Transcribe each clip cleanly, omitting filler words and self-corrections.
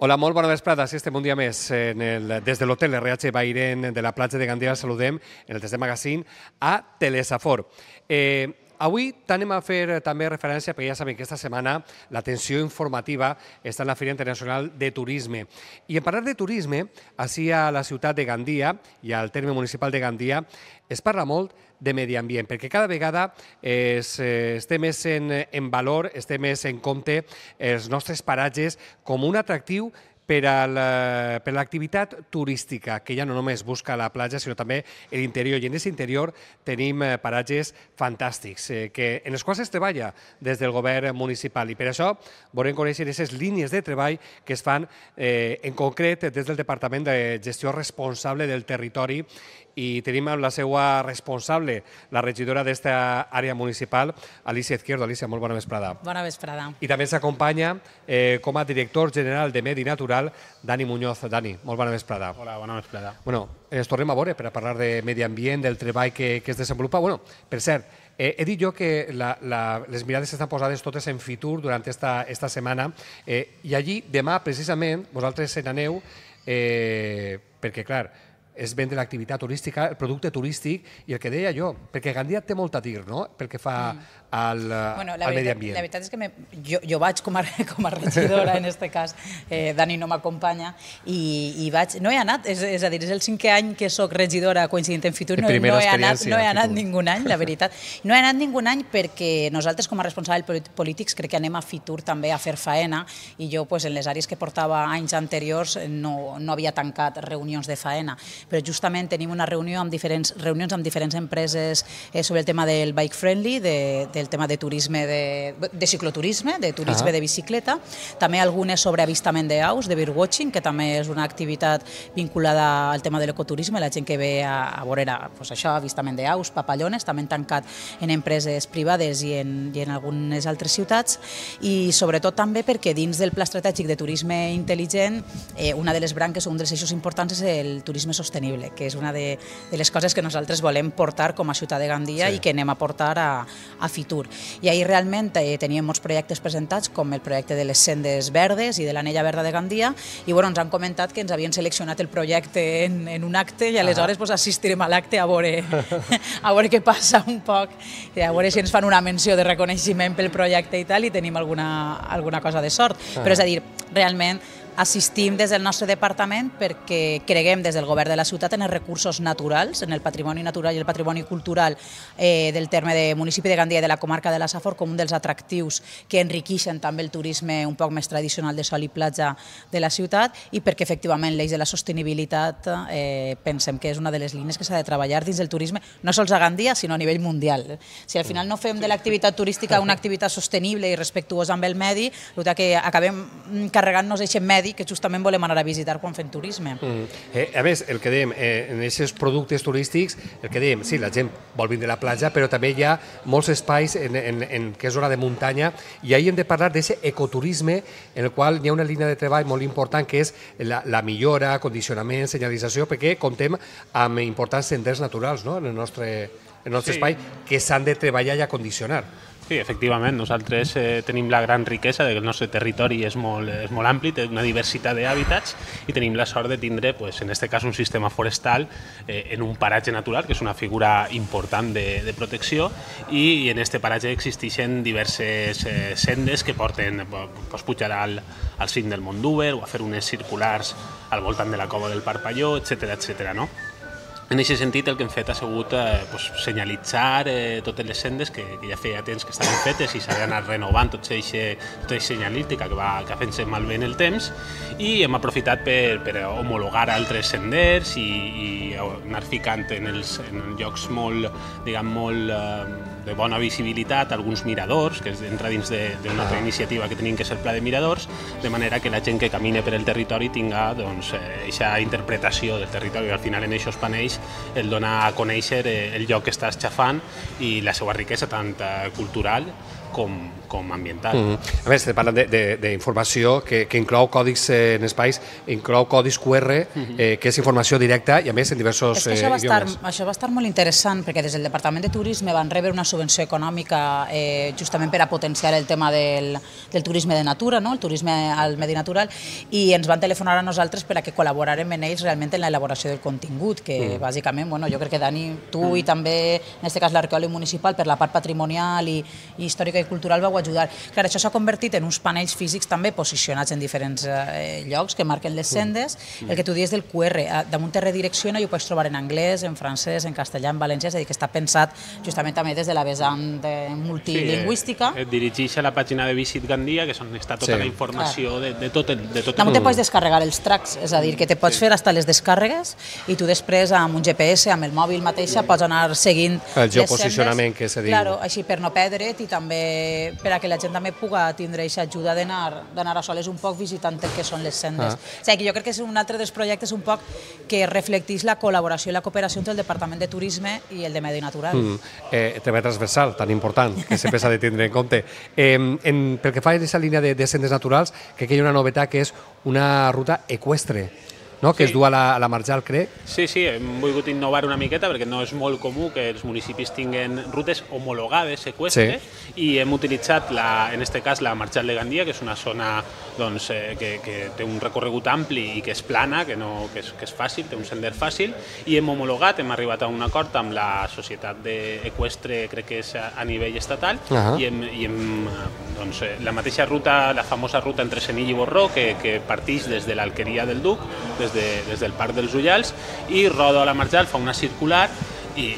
Hola, molt bona vesprada. Sí, estem un dia més des de l'hotel RH Bairen de la platja de Gandia. Saludem en el TSD Magazine a Telesafor. Avui anem a fer també referència, perquè ja sabem que aquesta setmana l'atenció informativa està en la Fira Internacional de Turisme. I en parlar de turisme, així a la ciutat de Gandia i al terme municipal de Gandia, es parla molt de medi ambient, perquè cada vegada es té més en valor, es té més en compte els nostres paratges com un atractiu per a l'activitat turística, que ja no només busca la platja, sinó també l'interior. I en aquest interior tenim paratges fantàstics, en els quals es treballa des del govern municipal. I per això volem conèixer aquestes línies de treball que es fan en concret des del Departament de Gestió Responsable del Territori, i tenim amb la seva responsable, la regidora d'esta àrea municipal, Alicia Izquierdo. Alicia, molt bona vesprada. Bona vesprada. I també s'acompanya com a director general de Medi Natural, Dani Muñoz. Dani, molt bona vesprada. Hola, bona vesprada. Bueno, ens tornem a veure per a parlar de medi ambient, del treball que es desenvolupa. Bueno, per cert, he dit jo que les mirades estan posades totes en Fitur durant esta setmana, i allí demà precisament vosaltres se n'aneu perquè, clar, és vendre l'activitat turística, el producte turístic, i el que deia jo, perquè Gandia té molt a dir, no?, pel que fa al medi ambient. La veritat és que jo vaig com a regidora, en aquest cas, Dani no m'acompanya, i vaig, no he anat, és a dir, és el 5è any que soc regidora coincidint en Fitur, no he anat ningú any, la veritat. No he anat ningú any perquè nosaltres, com a responsables polítics, crec que anem a Fitur també a fer faena, i jo, en les àrees que portava anys anteriors, no havia tancat reunions de faena, però justament tenim una reunió amb reunions amb diferents empreses sobre el tema del bike friendly, del tema de turisme, de cicloturisme, de turisme de bicicleta, també algunes sobre avistament d'aus, de birdwatching, que també és una activitat vinculada al tema de l'ecoturisme, la gent que ve a veure això, avistament d'aus, papallones, també han tancat en empreses privades i en algunes altres ciutats, i sobretot també perquè dins del Pla Estratègic de Turisme Intel·ligent, una de les branques o un dels eixos importants és el turisme sostenible, que és una de les coses que nosaltres volem portar com a ciutat de Gandia i que anem a portar a Fitur. I ahir realment teníem molts projectes presentats, com el projecte de les sendes verdes i de l'anella verda de Gandia, i ens han comentat que ens havien seleccionat el projecte en un acte, i aleshores assistirem a l'acte a veure què passa un poc, a veure si ens fan una menció de reconeixement pel projecte i tal, i tenim alguna cosa de sort. Però és a dir, realment assistim des del nostre departament perquè creguem des del govern de la ciutat en els recursos naturals, en el patrimoni natural i el patrimoni cultural del terme de municipi de Gandia i de la comarca de la Safor, com un dels atractius que enriqueixen també el turisme un poc més tradicional de sol i platja de la ciutat, i perquè efectivament l'eix de la sostenibilitat pensem que és una de les línies que s'ha de treballar dins del turisme, no sols a Gandia, sinó a nivell mundial. Si al final no fem de l'activitat turística una activitat sostenible i respectuosa amb el medi, que acabem carregant-nos aquest medi que justament volem anar a visitar quan fem turisme. A més, el que dèiem, en aquests productes turístics, el que dèiem, sí, la gent vol vindre a la platja, però també hi ha molts espais que és zona de muntanya, i ahir hem de parlar d'aquest ecoturisme en el qual hi ha una línia de treball molt important, que és la millora, condicionament, senyalització, perquè comptem amb importants senders naturals en el nostre espai que s'han de treballar i acondicionar. Sí, efectivament, nosaltres tenim la gran riquesa que el nostre territori és molt ampli, té una diversitat d'hàbitats, i tenim la sort de tindre, en aquest cas, un sistema forestal en un paratge natural, que és una figura important de protecció, i en aquest paratge existeixen diverses sendes que porten, pots pujar al cim del Mont d'Úber o a fer unes circulars al voltant de la cova del Parpalló, etcètera, no? En aquest sentit, el que hem fet ha sigut senyalitzar totes les sendes que ja feia temps que estaven fetes i s'ha d'anar renovant tota aquesta senyalística que va fent-se malbé en el temps, i hem aprofitat per homologar altres senders i anar ficant en llocs molt de bona visibilitat alguns miradors, que entra dins d'una altra iniciativa que tenim, que és el Pla de Miradors, de manera que la gent que camina per el territori tinga aquesta interpretació del territori, i al final en aquests panells el dona a conèixer el lloc que està esxafant i la seva riquesa tant cultural com com ambiental. A més, parlant d'informació que inclou còdics en espais, inclou codis QR, que és informació directa i a més en diversos idiomes. Això va estar molt interessant perquè des del Departament de Turisme van rebre una subvenció econòmica justament per a potenciar el tema del turisme de natura, el turisme al medi natural, i ens van telefonar a nosaltres per a que col·laborarem en ells realment en l'elaboració del contingut, que bàsicament, jo crec que Dani, tu i també, en aquest cas l'arqueòleg municipal, per la part patrimonial i històrica i cultural vau ajudar. Clar, això s'ha convertit en uns panells físics també posicionats en diferents llocs que marquen les sendes. El que tu dius del QR, damunt te redirecciona i ho pots trobar en anglès, en francès, en castellà, en valencià, és a dir, que està pensat justament també des de la vessant multilingüística. Et dirigeix a la pàgina de Visit Gandia, que és on està tota la informació de tot el... Damunt te pots descarregar els tracks, és a dir, que te pots fer fins les descàrregues i tu després amb un GPS, amb el mòbil mateixa, pots anar seguint el geoposicionament que se diu. Claro, així per no perdre't i també per a que la gent també puga tindre aquesta ajuda d'anar a soles un poc visitant el que són les sendes. O sigui, que jo crec que és un altre dels projectes un poc que reflecteix la col·laboració i la cooperació entre el Departament de Turisme i el de Medi Natural. Tema transversal, tan important, que sempre s'ha de tindre en compte. Pel que fa a aquesta línia de sendes naturals, crec que hi ha una novetat que és una ruta eqüestre, que es du a la Marjal, crec. Sí, hem volgut innovar una miqueta perquè no és molt comú que els municipis tinguin rutes homologades eqüestre i hem utilitzat, en aquest cas, la Marjal de Gandia, que és una zona que té un recorregut ampli i que és plana, que és fàcil, té un sender fàcil, i hem homologat, hem arribat a un acord amb la societat eqüestre, crec que és a nivell estatal, i la mateixa ruta, la famosa ruta entre Senill i Borró, que partix des de l'Alqueria del Duc, des del Parc dels Ullals, i roda a la Marjal, fa una circular, i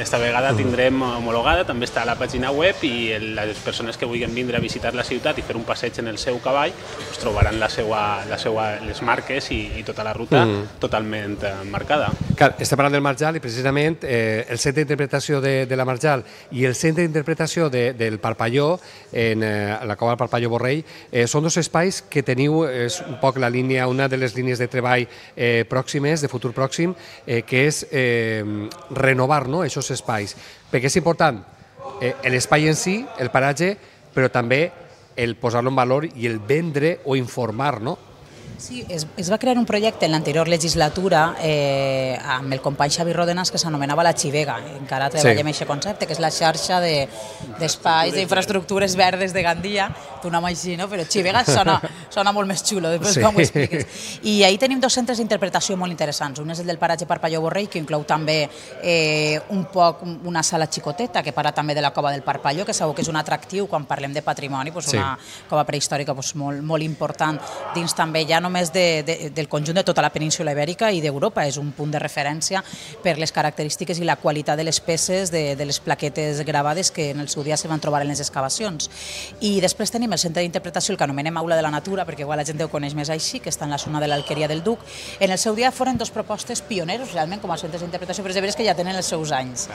esta vegada tindrem homologada, també està a la pàgina web, i les persones que vulguin vindre a visitar la ciutat i fer un passeig en el seu cavall trobaran les marques i tota la ruta totalment marcada. Clar, estem parlant del Marjal i precisament el centre d'interpretació de la Marjal i el centre d'interpretació del Parpalló, en la cova del Parpalló Borrell, són dos espais que teniu, és un poc la línia, una de les línies de treball pròximes, de futur pròxim, que és renovar aquests espais, perquè és important l'espai en si, el paratge, però també el posar-lo en valor i el vendre o informar, no? Sí, es va crear un projecte en l'anterior legislatura amb el company Xavi Rodenas que s'anomenava la Xivega. Encara treballem aquest concepte, que és la xarxa d'espais, d'infraestructures verdes de Gandia. Tu nom així, no? Però Xivega sona molt més xulo, després com ho expliques. I ahir tenim dos centres d'interpretació molt interessants. Un és el del paratge Parpalló Borrell, que inclou també un poc una sala xicoteta, que parla també de la cova del Parpalló, que segur que és un atractiu quan parlem de patrimoni, una cova prehistòrica molt important dins també ja només del conjunt de tota la península Ibèrica i d'Europa. És un punt de referència per les característiques i la qualitat de les peces, de les plaquetes gravades que en el seu dia se van trobar en les excavacions. I després tenim el centre d'interpretació, el que anomenem Aula de la Natura, perquè igual la gent ho coneix més així, que està en la zona de l'Alqueria del Duc. En el seu dia foren dos propostes pioneros realment com a centres d'interpretació, però és de veres que ja tenen els seus anys.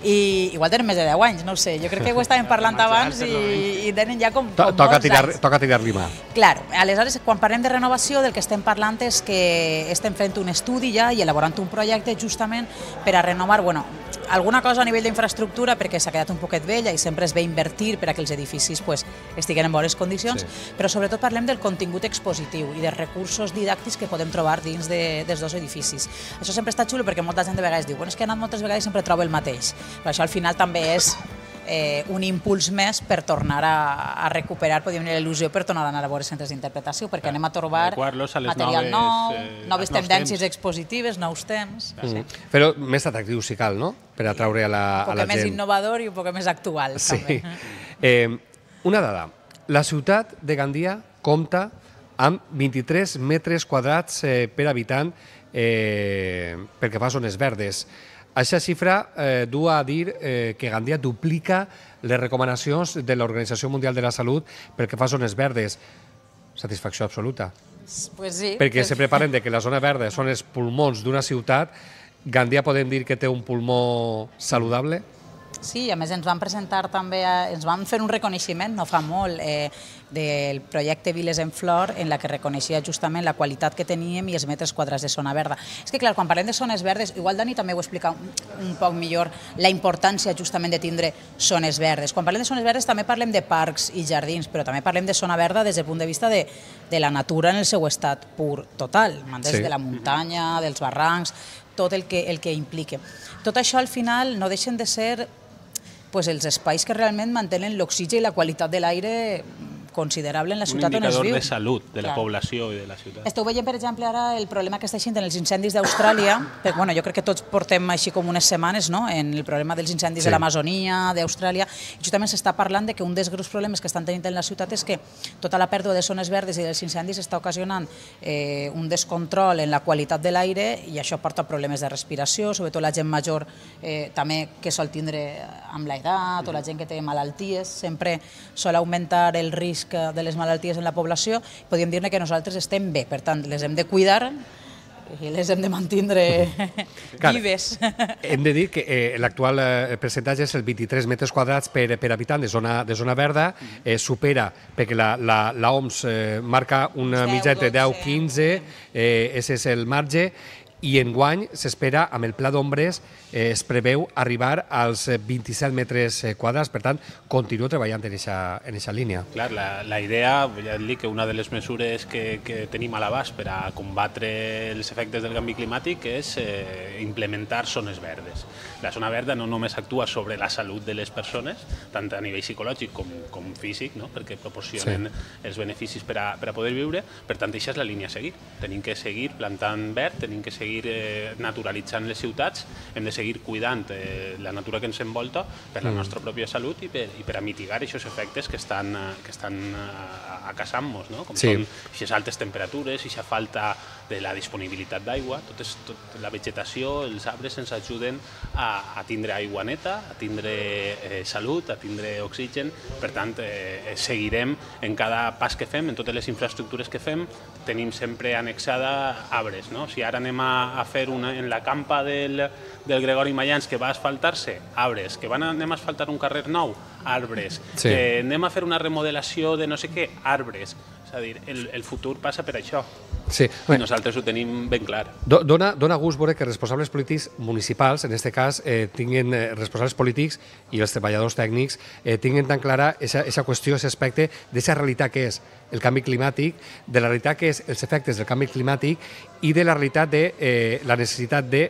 I igual tenen més de 10 anys, no ho sé. Jo crec que ho estàvem parlant abans i tenen ja com molts anys. Toca tirar-li mà. Clar, aleshores, quan parlem de renovació, del que estem parlant és que estem fent un estudi ja i elaborant un projecte justament per a renovar, alguna cosa a nivell d'infraestructura perquè s'ha quedat un poquet vella i sempre es ve invertir per a que els edificis estiguen en bones condicions, però sobretot parlem del contingut expositiu i dels recursos didàctics que podem trobar dins dels dos edificis. Això sempre està xulo perquè molta gent de vegades diu és que he anat moltes vegades i sempre trobo el mateix, però això al final també és un impuls més per tornar a recuperar, podríem dir, l'il·lusió per tornar a anar a veure centres d'interpretació, perquè anem a trobar material nou, noves tendències expositives, nous temps. Però més atractiu si cal, no?, per atraure a la gent. Un poc més innovador i un poc més actual, també. Una dada, la ciutat de Gandia compta amb 23 metres quadrats per habitant pel que fa a zones verdes. Aquesta xifra du a dir que Gandia duplica les recomanacions de l'Organització Mundial de la Salut pel que fa a zones verdes. Satisfacció absoluta. Pues sí. Perquè sempre parlen que la zona verda són els pulmons d'una ciutat. Gandia podem dir que té un pulmó saludable? Sí, a més ens van presentar també, ens van fer un reconeixement no fa molt del projecte Viles en Flor, en la que reconeixia justament la qualitat que teníem i els metres quadrats de zona verda. És que, clar, quan parlem de zones verdes, igual Dani també ho explica un poc millor, la importància justament de tindre zones verdes. Quan parlem de zones verdes també parlem de parcs i jardins, però també parlem de zona verda des del punt de vista de la natura en el seu estat pur total, des de la muntanya, dels barrancs, tot el que implica. Tot això al final no deixen de ser els espais que realment mantenen l'oxigen i la qualitat de l'aire considerable en la ciutat on es viu. Un indicador de salut de la població i de la ciutat. Esteu veient, per exemple, ara el problema que està eixint en els incendis d'Austràlia. Jo crec que tots portem així com unes setmanes en el problema dels incendis de l'Amazonia, d'Austràlia. Justament s'està parlant que un dels greus problemes que estan tenint en la ciutat és que tota la pèrdua de zones verdes i dels incendis està ocasionant un descontrol en la qualitat de l'aire i això porta problemes de respiració, sobretot la gent major també que sol tindre amb l'edat o la gent que té malalties, sempre sol augmentar el risc de les malalties en la població. Podríem dir que nosaltres estem bé, per tant, les hem de cuidar i les hem de mantindre vives. Hem de dir que l'actual percentatge és el 23 metres quadrats per habitant de zona verda, supera, perquè l'OMS marca una mitjana entre 10-15, ese és el marge, i enguany s'espera, amb el pla d'ombres, es preveu arribar als 27 metres quadrats. Per tant, continuo treballant en aquesta línia. Clar, la idea, ja et dic que una de les mesures que tenim a l'abast per a combatre els efectes del canvi climàtic és implementar zones verdes. La zona verda no només actua sobre la salut de les persones, tant a nivell psicològic com físic, perquè proporcionen els beneficis per a poder viure. Per tant, això és la línia a seguir. Tenim que seguir plantant verd, tenim que seguir naturalitzant les ciutats, hem de seguir cuidant la natura que ens envolta per la nostra pròpia salut i per a mitigar aquests efectes que estan acaçant-nos, com són aquestes altes temperatures, aquesta falta de la disponibilitat d'aigua. Tota la vegetació, els arbres ens ajuden a tindre aigua neta, a tindre salut, a tindre oxigen. Per tant, seguirem en cada pas que fem, en totes les infraestructures que fem, tenim sempre annexada arbres. Si ara anem a fer en la campa del Gregori Mayans que va asfaltar-se, arbres. Que anem a asfaltar un carrer nou, arbres. Que anem a fer una remodelació de no sé què, arbres. És a dir, el futur passa per això. I nosaltres ho tenim ben clar. Dona gust veure que responsables polítics municipals, en aquest cas, tinguin responsables polítics i els treballadors tècnics tinguin tan clara aquesta qüestió, aquest aspecte d'aquesta realitat que és el canvi climàtic, de la realitat que és els efectes del canvi climàtic i de la realitat de la necessitat de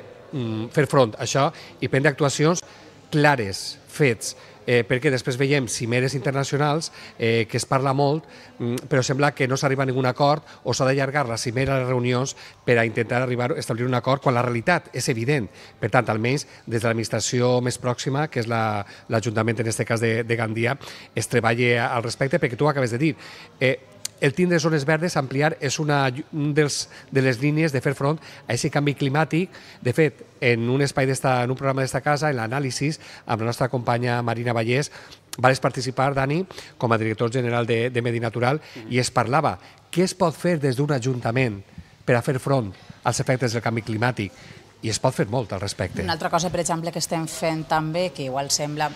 fer front a això i prendre actuacions clares, fets, perquè després veiem cimeres internacionals que es parla molt, però sembla que no s'arriba a ningun acord o s'ha d'allargar la cimera, les reunions, per a intentar establir un acord quan la realitat és evident. Per tant, almenys des de l'administració més pròxima, que és l'Ajuntament, en aquest cas de Gandia, es treballa al respecte, perquè tu ho acabes de dir. El tindre zones verdes, ampliar, és una de les línies de fer front a aquest canvi climàtic. De fet, en un programa d'esta casa, en l'anàlisi, amb la nostra companya Marina Vallès, vas participar, Dani, com a director general de Medi Natural, i es parlava què es pot fer des d'un ajuntament per a fer front als efectes del canvi climàtic. I es pot fer molt al respecte. Una altra cosa, per exemple, que estem fent també, que igual sembla...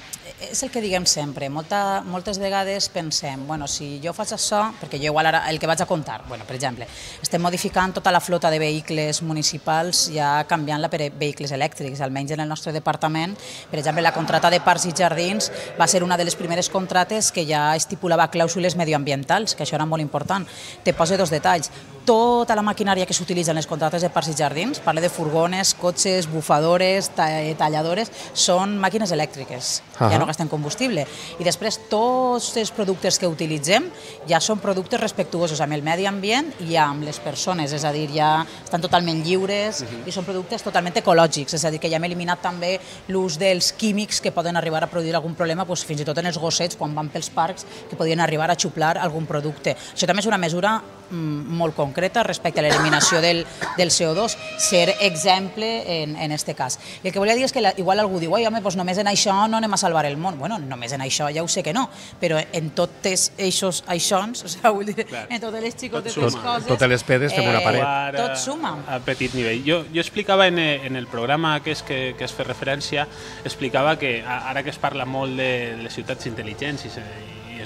És el que diguem sempre. Moltes vegades pensem, si jo faig això, perquè jo igual ara el que vaig a contar, per exemple, estem modificant tota la flota de vehicles municipals, ja canviant-la per vehicles elèctrics, almenys en el nostre departament. Per exemple, la contrata de parcs i jardins va ser una de les primeres contrates que ja estipulava clàusules medioambientals, que això era molt important. Te poso dos detalls. Tota la maquinària que s'utilitza en les contractes de parcs i jardins, parla de furgones, cotxes, bufadores, talladores, són màquines elèctriques, ja no gasten combustible. I després tots els productes que utilitzem ja són productes respectuosos amb el medi ambient i amb les persones, és a dir, ja estan totalment lliures i són productes totalment ecològics, és a dir, que ja hem eliminat també l'ús dels químics que poden arribar a produir algun problema, fins i tot en els gossets, quan van pels parcs, que podien arribar a xuplar algun producte. Això també és una mesura molt concreta respecte a l'eliminació del CO2, ser exemple en aquest cas. I el que volia dir és que igual algú diu, home, doncs només en això no anem a salvar el món. Bueno, només en això ja ho sé que no, però en totes eixos aixons, vull dir, en totes les xicotetes coses... Totes les pedes fem una paret. Tot suma. A petit nivell. Jo explicava en el programa que es fa referència, explicava que ara que es parla molt de les ciutats intel·ligents i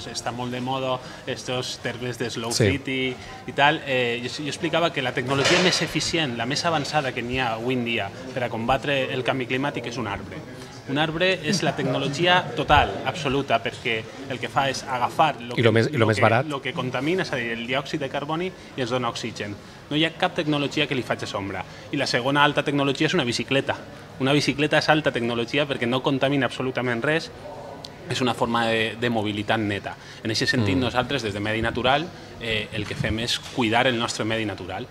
està molt de moda estos termes de slow city i tal, jo explicava que la tecnologia més eficient, la més avançada que n'hi ha avui en dia per a combatre el canvi climàtic és un arbre. Un arbre és la tecnologia total, absoluta, perquè el que fa és agafar el que contamina, és a dir, el diòxid de carboni, i ens dona oxigen. No hi ha cap tecnologia que li faci sombra. I la segona alta tecnologia és una bicicleta. Una bicicleta és alta tecnologia perquè no contamina absolutament res, és una forma de mobilitat neta. En aquest sentit, nosaltres, des de Medi Natural, el que fem és cuidar el nostre medi natural.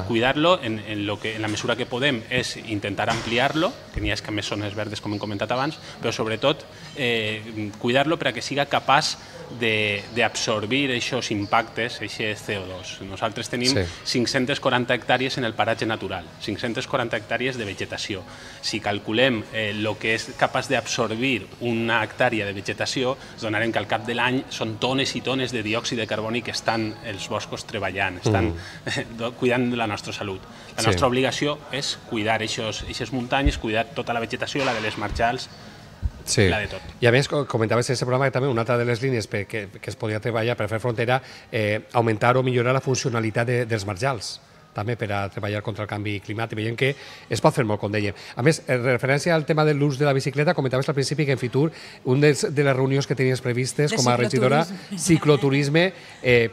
Cuidar-lo en la mesura que podem és intentar ampliar-lo, que n'hi ha més zones verdes, com hem comentat abans, però sobretot cuidar-lo perquè siga capaç d'absorbir aquests impactes, aquest CO2. Nosaltres tenim 540 hectàrees en el paratge natural, 540 hectàrees de vegetació. Si calculem el que és capaç d'absorbir una hectàrea de vegetació, ens donarem que al cap de l'any són tones i tones de diòxid de carboni que estan els boscos treballant, estan cuidant de la nostra salut. La nostra obligació és cuidar aquestes muntanyes, cuidar tota la vegetació, la de les marjals, la de tot. I a més, comentaves en aquest programa que també una altra de les línies que es podia treballar per fer front era augmentar o millorar la funcionalitat dels marjals, també per a treballar contra el canvi climàtic. Veiem que es pot fer molt, com dèiem. A més, en referència al tema de l'ús de la bicicleta, comentaves al principi que en Fitur, una de les reunions que tenies previstes com a regidora, cicloturisme,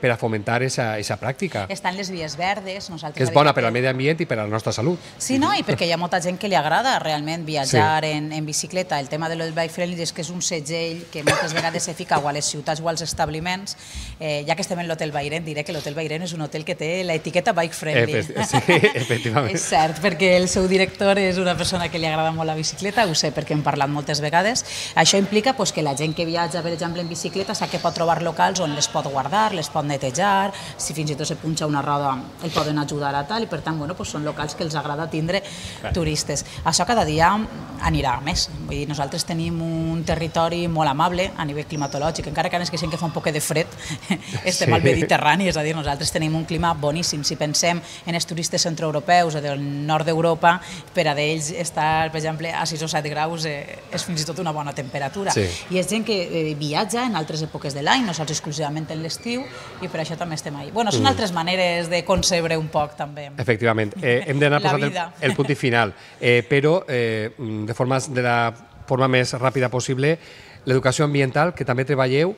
per a fomentar aquesta pràctica. Estan les vies verdes. Que és bona per al medi ambient i per a la nostra salut. Sí, no? I perquè hi ha molta gent que li agrada realment viatjar en bicicleta. El tema de l'Bike Friendly és que és un segell que moltes vegades se fica a les ciutats o als establiments. Ja que estem en l'Hotel Bairen, diré que l'Hotel Bairen és un hotel que té l'etiqueta Bike Friendly. Sí, efectivament. És cert, perquè el seu director és una persona que li agrada molt la bicicleta, ho sé perquè hem parlat moltes vegades. Això implica que la gent que viatja, per exemple, en bicicleta, sap que pot trobar locals on les pot guardar, les pot netejar, si fins i tot se punxa una roda el poden ajudar a tal, i per tant són locals que els agrada tindre turistes. Això cada dia anirà més. Vull dir, nosaltres tenim un territori molt amable a nivell climatològic, encara que ara és que de un poc de fred, estem al Mediterrani, és a dir, nosaltres tenim un clima boníssim. Si pensem en els turistes centroeuropeus o del nord d'Europa, per a d'ells estar, per exemple, a 6 o 7 graus és fins i tot una bona temperatura. I és gent que viatja en altres èpoques de l'any, no sols exclusivament en l'estiu, i per això també estem ahí. Bueno, són altres maneres de concebre un poc, també. Efectivament. Hem d'anar posant el punt final, però de la forma més ràpida possible, l'educació ambiental, que també treballeu,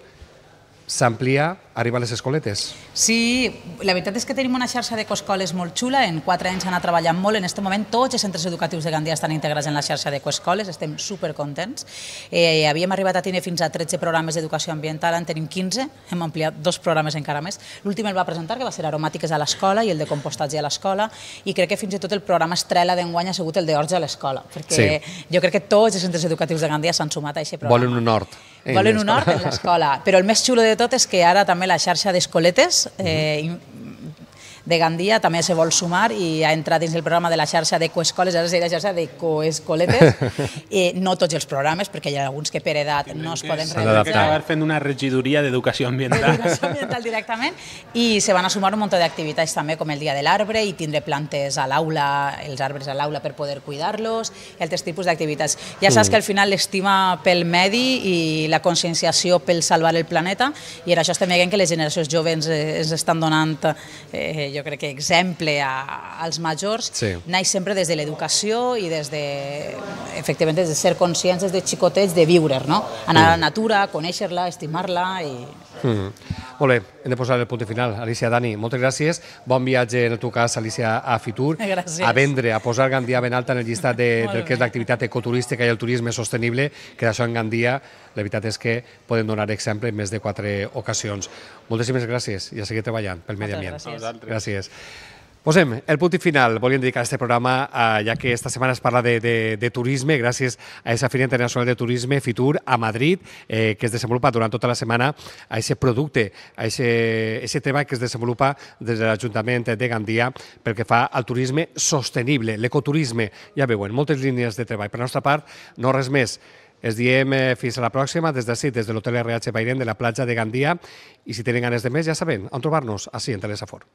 s'amplia, arriba a les escoletes. Sí, la veritat és que tenim una xarxa d'ecoescoles molt xula. En 4 anys han anat treballant molt. En aquest moment tots els centres educatius de Gandia estan integrats en la xarxa d'ecoescoles. Estem supercontents. Havíem arribat a tenir fins a 13 programes d'educació ambiental, en tenim 15. Hem ampliat 2 programes encara més. L'últim el va presentar, que va ser aromàtiques a l'escola i el de compostatge a l'escola. I crec que fins i tot el programa estrella d'enguany ha sigut el d'Orge a l'escola. Perquè jo crec que tots els centres educatius de Gandia s'han sumat a aquest programa. Volen un hort. Volen un hort en l'escola. Però el més xulo de tot és que ara també la xarxa d'escoletes de Gandia també se vol sumar i ha entrat dins el programa de la xarxa d'ecoescoles, ara seria la xarxa d'ecoescoletes. No tots els programes, perquè hi ha alguns que per edat no es poden realitzar. S'ha d'acabar fent una regidoria d'educació ambiental. D'educació ambiental directament. I se van a sumar un munt d'activitats també, com el Dia de l'Arbre, i tindre plantes a l'aula, els arbres a l'aula per poder cuidar-los, i altres tipus d'activitats. Ja saps que al final l'estima pel medi i la conscienciació pel salvar el planeta, i en això estem veient que les generacions joves ens estan donant, jo crec que exemple als majors, naix sempre des de l'educació i efectivament des de ser conscients des de xicotets de viure, no? Anar a la natura, conèixer-la, estimar-la i... Molt bé, hem de posar el punt final. Alicia, Dani, moltes gràcies. Bon viatge, en el teu cas, Alicia, a Fitur. Gràcies. A vendre, a posar Gandia ben alta en el llistat del que és l'activitat ecoturística i el turisme sostenible, que d'això en Gandia, la veritat és que poden donar exemple en més de 4 ocasions. Moltíssimes gràcies i a seguir treballant pel medi ambient. Gràcies. Gràcies. Posem el punt i final. Volíem dedicar aquest programa, ja que esta setmana es parla de turisme, gràcies a aquesta Fira Internacional de Turisme, Fitur, a Madrid, que es desenvolupa durant tota la setmana a aquest producte, a aquest treball que es desenvolupa des de l'Ajuntament de Gandia pel que fa al turisme sostenible, l'ecoturisme. Ja veuen, moltes línies de treball. Per la nostra part, no res més. Es diem fins a la pròxima, des d'ací, des de l'Hotel RH Bairén de la platja de Gandia, i si tenen ganes de més, ja saben on trobar-nos, així en Telesafor.